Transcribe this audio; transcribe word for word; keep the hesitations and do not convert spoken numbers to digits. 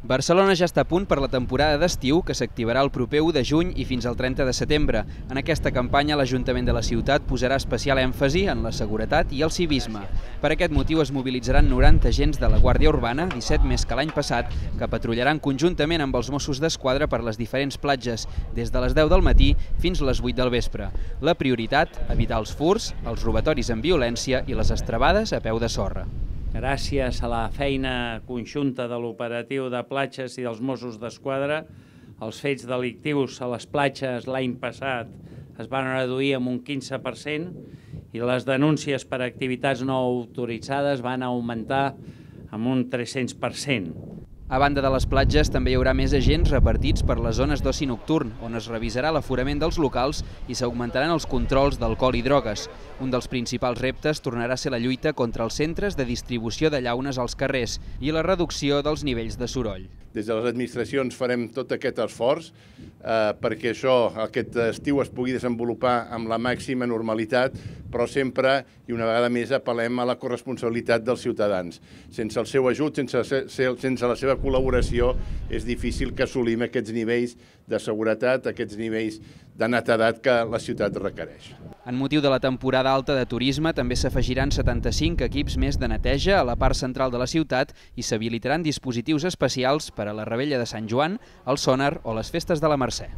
Barcelona ja està a punt per la temporada d'estiu, que s'activarà el proper u de juny i fins al trenta de setembre. En aquesta campanya, l'Ajuntament de la ciutat posarà especial èmfasi en la seguretat i el civisme. Per aquest motiu es mobilitzaran noranta agents de la Guàrdia Urbana, disset més que l'any passat, que patrullaran conjuntament amb els Mossos d'Esquadra per les diferents platges, des de les deu del matí fins a les vuit del vespre. La prioritat, evitar els furts, els robatoris amb violència i les estrebades a peu de sorra. Gràcies a la feina conjunta de l'operatiu de platges i dels Mossos d'Esquadra, els fets delictius a les platges l'any passat es van reduir en un quinze per cent i les denúncies per activitats no autoritzades van augmentar en un tres-cents per cent. A banda de les platges, també hi haurà més agents repartits per les zones d'oci nocturn, on es revisarà l'aforament dels locals i s'augmentaran els controls d'alcohol i drogues. Un dels principals reptes tornarà a ser la lluita contra els centres de distribució de llaunes als carrers i la reducció dels nivells de soroll. Des de les administracions farem tot aquest esforç eh, perquè això, aquest estiu, es pugui desenvolupar amb la màxima normalitat, però sempre, i una vegada més, apel·lem a la corresponsabilitat dels ciutadans. Sense el seu ajut, sense, sense la seva col·laboració, és difícil que assolim aquests nivells de seguretat, aquests nivells de netedat que la ciutat requereix. En motiu de la temporada alta de turisme, també s'afegiran setanta-cinc equips més de neteja a la part central de la ciutat i s'habilitaran dispositius especials per a la Rebella de Sant Joan, el Sònar o les festes de la Mercè.